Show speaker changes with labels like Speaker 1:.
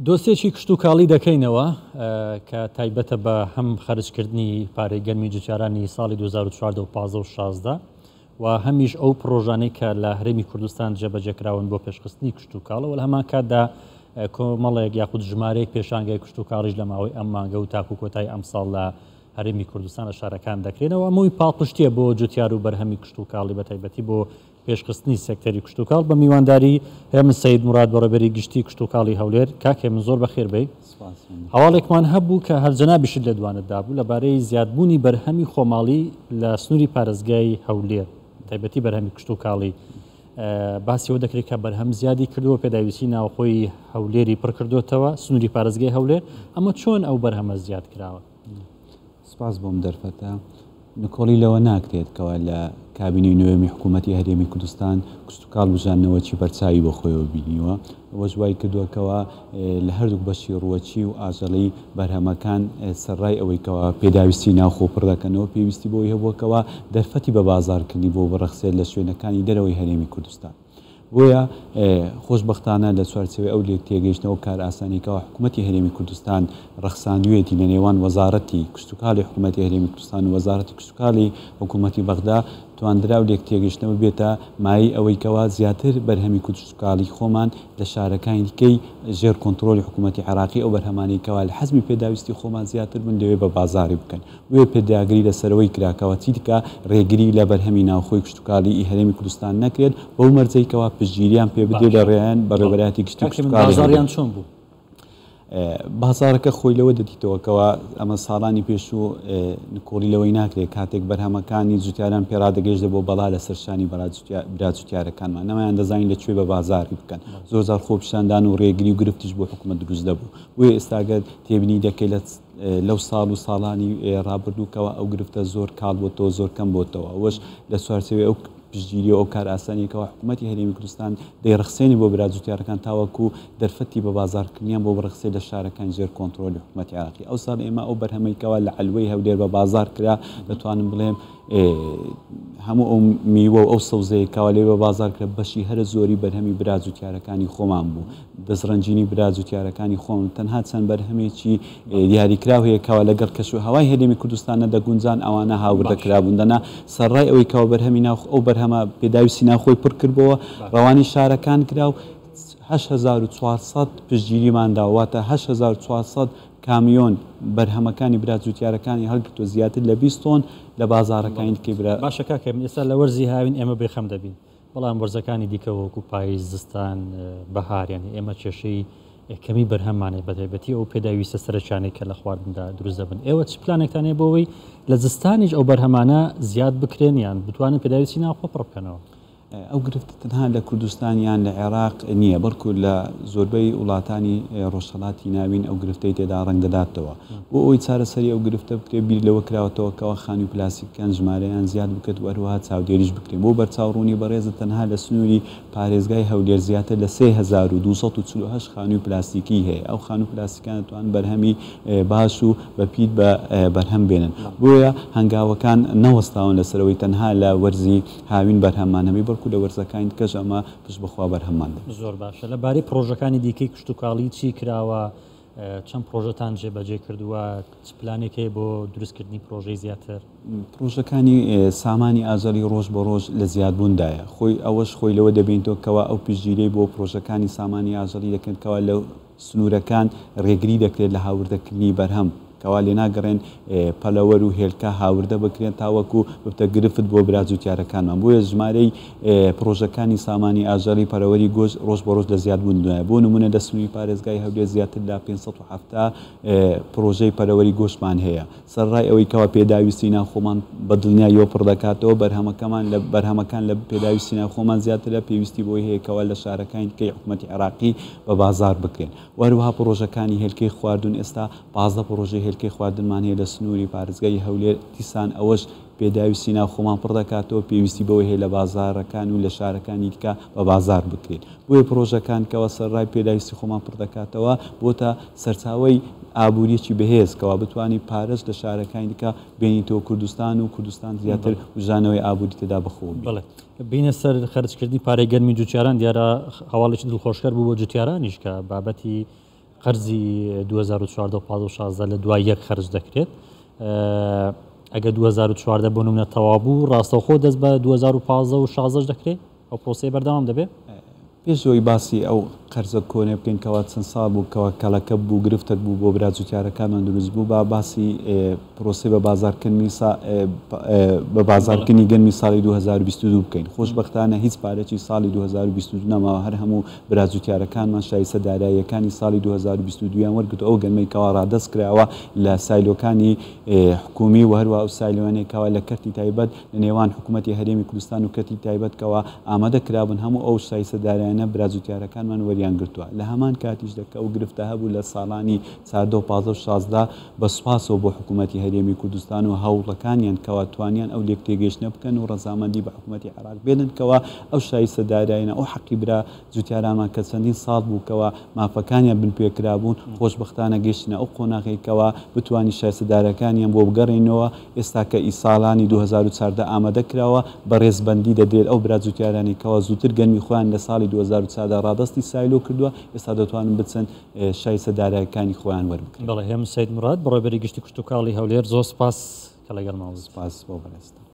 Speaker 1: دۆسیەکی کشتوکاڵی دەکەینەوە کە تایبەتە بە هەم خەرجکردنی پارەی گەرمی جوتیارانی ساڵی 2014 و 15 و 16 و هەمیش ئەو پڕۆژانەی کە لە هەرێمی کوردستان جێبەجێکراون بۆ پێشخستنی کشتوکاڵ و لە هەمان کاتدا کۆمەڵێک یاخود ژمارەیەک پێشانگای کشتوکاڵیش لە ماوەی ئەم مانگە و تاکو کۆتایی ئەمساڵ لە هەرێمی کوردستان لە شارەکان دەکرێنەوە. ئەمەی پاڵپشتیە بۆ جوتیار و بەرهەمی کشتوکاڵی بە تایبەتی بۆ پێشخستنی سێکتەری کشتوکاڵ. بە میوانداری هێمن سەید موراد بەڕێوەبەری گشتی کشتوکاڵی هەولێر. کاک هێمن زۆر بەخێر بێی. هەواڵێکمان هەبوو کە هەر جەنابیشت لێدوانت دابوو لەبارەی زیادبوونی بەرهەمی خۆماڵی لە سنووری پارێزگای هەولێر، تایبەتی بەرهەمی کشتوکاڵی. باسی ئەوە دەکرێت کە بەرهەم زیادی کردووە، پێداویستی ناوخۆی هەولێری پڕکردوێتەوە، سنووری پارێزگای هەولێر. ئەمە چۆن ئەو بەرهەمە زیاد کراوە؟
Speaker 2: سپاس بۆم دەرفەتە. نکۆڵی لەوە ناکرێت کەوا لە کابینەی نۆیەمی حکوومەتی هەرێمی کوردستان کشتوکاڵ بژاندنەوەکی بەرچاوی بە خۆیەوە بینیوە، ئەوەش وای کردووە کەوا لە هەردووک بەشی ڕووەکی و ئاژەڵی بەرهەمەکان سەرڕای ئەوەی کەوا پێداویستی ناوخۆ پڕ دەکەنەوە، پێویستی بەوەی هەبووە کەوا دەرفەتی بە بازاڕکردنی بۆ بڕەخسێت لە شوێنەکانی دەرەوەی هەرێمی کوردستان. بۆیە خۆشبەختانە لە چوارچێوەی ئەو لێکتێگەیشتنە و کارئاسانی کەوا حکوومەتی هەرێمی کوردستان ڕەخساندوویەتی لە نێوان وەزاڕەتی کشتوکاڵی حکوومەتی هەرێمی کوردستان و وەزاڕەتی کشتوکاڵی حکوومەتی بەغدا تواندرا و لێکتێگەیشتنە ببێتە مایەی ئەوەی کەوا زیاتر بەرهەمی کشتوکاڵی خۆمان لە شارەکانی دیکەی ژێر کۆنتڕۆڵی حکوومەتی عێراقی ئەو بەرهەمانەی کەوا لە حەجمی پێداویستی خۆمان زیاتر بن لەوێ بە بازاڕی بکەن. بۆیە پێداگری لەسەرەوەی کرا کەوا چیدیکە ڕێگری لە بەرهەمی ناوخۆی کشتوکاڵی ی هەرێمی کوردستان نەکرێت بەو مەرجەی کەوا پشتگیریان پێ بدرێت لە
Speaker 1: باشە
Speaker 2: ڕێیان
Speaker 1: بەڵێ
Speaker 2: بەڕێوەبەرایەتی گشتی
Speaker 1: کاک هێمن
Speaker 2: کشتوکاڵی هەولێر.
Speaker 1: بازاڕیان چۆن بوو؟
Speaker 2: بازاڕەکە خۆی لەوە دەدیتەوە کەوا ئەمە ساڵانی پێشوو نکۆڵی لەوەی ناکرێت کاتێک بەرهەمەکانی جوتیاران پێڕادەگەیشتە بۆ بەڵا لەسەر شانی برا جوتیارەکانمان نەمایان دەزانی لە کوێ بە بازاڕی بکەن زۆر جار خۆپیشاندان و ڕێگری و گرفتیش بۆ حکومەت دروست دەبوو بۆیە ئێستا گەر تێبینی دەکەی لە لەو ساڵ و ساڵانی ڕابردوو کەوا ئەو گرفتە زۆر کاڵ بۆتەوە زۆر کەم بۆتەوە ئەوەش لە چوارچێوەی ئەو پشتگیری و ئەو کارئاسانیە کەوا حکوومەتی هەرێمی کوردستان دەیڕەخسێنی بۆ برا جوتیارەکان تاوەکو دەرفەتی بە بازاڕکردنیان بۆ بڕەخسێ لە شارەکانی ژێر کۆنترۆلی حکوومەتی عێراقی ئەو ساڵ ئێمە ئەو بەرهەمەی کەوا لە عەلوەی هەولێر بە بازاڕ کرا دەتوانم بڵێم هەموو ئەو میوە و ئەو سەوزەیە کەوا لێ بە بازاڕ کرا بەشی هەرە زۆری بەرهەمی برا جوتیارەکانی خۆمان بوو دەستڕەنگینی برا جوتیارەکانی خۆم تەنها چەند بەرهەمێکی دیاریکراو هەیە کەوا لەگەڵ کەش و هەوای هەرێمی کوردستان نەدەگونجان ئەوانە هاوردە کرابوون دەنا سەرڕای ئەوەی کەوا بەرهەمی ناو ئەو بەرهەمە پێداویستی ناوخۆی پڕ کردبۆوە ڕەوانی شارەکان کرا و 8400 پشتگیریمان دا واتە 8400 کامیۆن بەرهەمەکانی برا جوتیارەکانی هەڵگرتووە زیاتر لە 20 تۆن لە بازاڕەکانی دیکەی برا
Speaker 1: باشە کاکە ئێستا لە وەرزی هاوین ئێمە بێخەم دەبین بەڵام وەرزەکانی دیکە وەکو پاییز، زستان، بەهار یانی ئێمە کێشەی کەمی بەرهەممان هەیە بەتایبەتی ئەو پێداویستە سەرەکیانەی کە لە خواردندا دروست دەبن. ئێوە چ پلانێکتان هەیە بۆ ئەوەی لە زستانیش ئەو بەرهەمانە زیاد بکرێن یان بتوانن پێداویستی ناوخۆ پڕ بکەنەوە؟
Speaker 2: ئەو گرفتە تەنها لە کوردستان یان لە عێراق نییە، بەڵکو لە زۆربەی وڵاتانی ڕۆژهەڵاتی ناوین ئەو گرفتەی تێدا ڕەنگ دەداتەوە. بۆ ئەوەی چارەسەری ئەو گرفتە بکرێت بیر لەوە کراوەتەوە کەوا خانووی پلاستیکەکان ژمارەیان زیاد بکرێت و هەروەها چاودێریش بکرێن. بۆ بەرچاو ڕوونی بەڕێزت تەنها لە سنووری پارێزگای هەولێر زیاتر لە 3248 خانووی پلاستیکی هەیە. ئەو خانوو پلاستیکانە دەتوانن بەرهەمی باش و بەپیت بە بەرهەم بێنن. بۆیە هەنگاوەکان نەوەستاون لەسەر ئەوەی تەنها لە وەرزی هاوین بەرهەممان هەبێت بەڵکو لە وەرزەکانی دیکەش ئەمە پشت بە خوا بەرهەممان دەبێت.
Speaker 1: زۆر باشە. لە بارەی پڕۆژەکانی دیکەی کشتوکاڵی چی کراوە؟ چەند پڕۆژەتان جێبەجێ کردووە؟ چ پلانێک هەیە بۆ دروستکردنی پڕۆژەی زیاتر؟
Speaker 2: پڕۆژەکانی سامانی ئاژەڵی ڕۆژ بە ڕۆژ لە زیادبووندایە. خۆی ئەوەش خۆی لەوە دەبینێتەوە کەوا ئەو پشتگیریەی بۆ پڕۆژەکانی سامانی ئاژەڵی دەکرێت کەوا لە سنوورەکان ڕێگری دەکرێت لە هاوردەکردنی بەرهەم کەوا لێناگەڕێن پەلەوەر و هێلکە هاوردە بکرێن تاوەکو ببتە گرفت بۆ برا جوتیارەکانمان بۆیە ژمارەی پڕۆژەکانی سامانی ئاژەڵی پەرەوەری گۆشت ڕۆژ بە ڕۆژ لە زیادبووندایە بۆ نمونە لە سنووری پارێزگای هەولێر زیاتر لە 570 پڕۆژەی پەرەوەری گۆشتمان هەیە سەرەڕای ئەوەی کەوا پێداویستی ناوخۆمان بە دڵنیاییەوە پڕ دەکاتەوە بەرهەمەکەمان لە بەرهەمەکان لە پێداویستی ناوخۆمان زیاترە پێویستی بۆی هەیە کەوا لە شارەکانی دیکەی حکومەتی عێراقی بە بازاڕ بکرێن و هەروەها پڕۆژەکانی هێلکەی خواردن ئێستا 15 پڕۆژەی هێلکەی خواردنمان هەیە لە سنووری پارێزگای هەولێر دیسان ئەوەش پێداویستی ناوخۆمان پڕ دەکاتەوە پێویستی بەوەی هەیە لە بازاڕەکان و لە شارەکانی دیکە بە بازاڕ بکرێن بۆیە پڕۆژەکان کەوا سەرەڕای پێداویستی خۆمان پڕ دەکاتەوە بۆتە سەرچاوەی ئابووریەکی بەهێز کەوا بتوانی پارەش لە شارەکانی دیکە بێنیتەوە کوردستان و کوردستان زیاتر وژانەوەی ئابووری تێدا بەخۆوە بینێت.
Speaker 1: بەڵێ بینە سەر خەرجکردنی پارەی گەرمی جوتیاران دیارە هەواڵێکی دڵخۆشکەر بوو بۆ جوتیارانیش کە بابەتی قەرزی 2014 و 15 و 16 لە دوای یەک خەرج دەکرێت. ئەگەر 2014 بۆ نمونە تەواو بوو ڕاستەوخۆ دەست بە 2015 و 16 دەکرێت؟ ئەو پرۆسەیە بەردەوام دەبێت؟
Speaker 2: پێش ئەوەی باسی ئەو قەرزە کۆنە بکەین کەوا چەند ساڵ بوو کەوا کەڵەکە بوو گرفتەک بوو بۆ برا جوتیارەکانمان دروست بوو با باسی پرۆسەی بە بازاڕکردنی بە بازاڕکردنی گەنمی ساڵی 2022 بکەین. خۆشبەختانە هیچ پارەکی ساڵی 2022 نەماوە هەر هەموو برا جوتیارەکانمان شایستە داراییەکانی ساڵی 2022 یان وەرگرتووە ئەو گەنمەی کەوا ڕادەست کراوە لە سایلۆکانی حکومی و هەروەها ئەو سایلۆیانەی کەوا لە کەرتی تایبەت لە نێوان حکوومەتی هەرێمی کوردستان و کەرتی تایبەت کەوا ئامادە کرابوون هەموو ئەو شایستە دارایانە برا جوتیارەکانمان وەریان گرتووە لە هەمان کاتیشدا کە ئەو گرفتە هەبوو لە ساڵانی 14 و 15 و 16 بە سوپاسەوە بۆ حکوومەتی هەرێمی کوردستان و هەوڵەکانیان کەوا توانیان ئەو لێکتێگەیشتنە بکەن و ڕەزامەندی بە حکوومەتی عێراق بێنن کەوا ئەو شایستە دارایانە ئەو حەقی برا جوتیارانمان کە چەندین ساڵ بوو کەوا مافەکانیان بنپێ کرابوون، خۆشبەختانە گەیشتنە ئەو قۆناغەی کەوا بتوانین شایستە دارەکانیان بۆ بگەڕێینەوە، ئێستا کە ئی ساڵانی 2014 ئامادە کراوە بە ڕێزبەندی دەدرێت ئەو برا جوتیارانەی کەوا زووتر گەنمی خۆیان لە ساڵی 2014 ڕادەستی سایلۆ کردووە ئێستا دەتوانن بچن شایستە دارایەکانی خۆیان وەربگرن.
Speaker 1: بەڵێ هێمن سەید موراد، بەڕێوەبەری گشتی کشتوکاڵی هەولێر، زۆر سوپاس کە لەگەڵمان بوویت.
Speaker 2: سوپاس بۆ بەڕێزتان.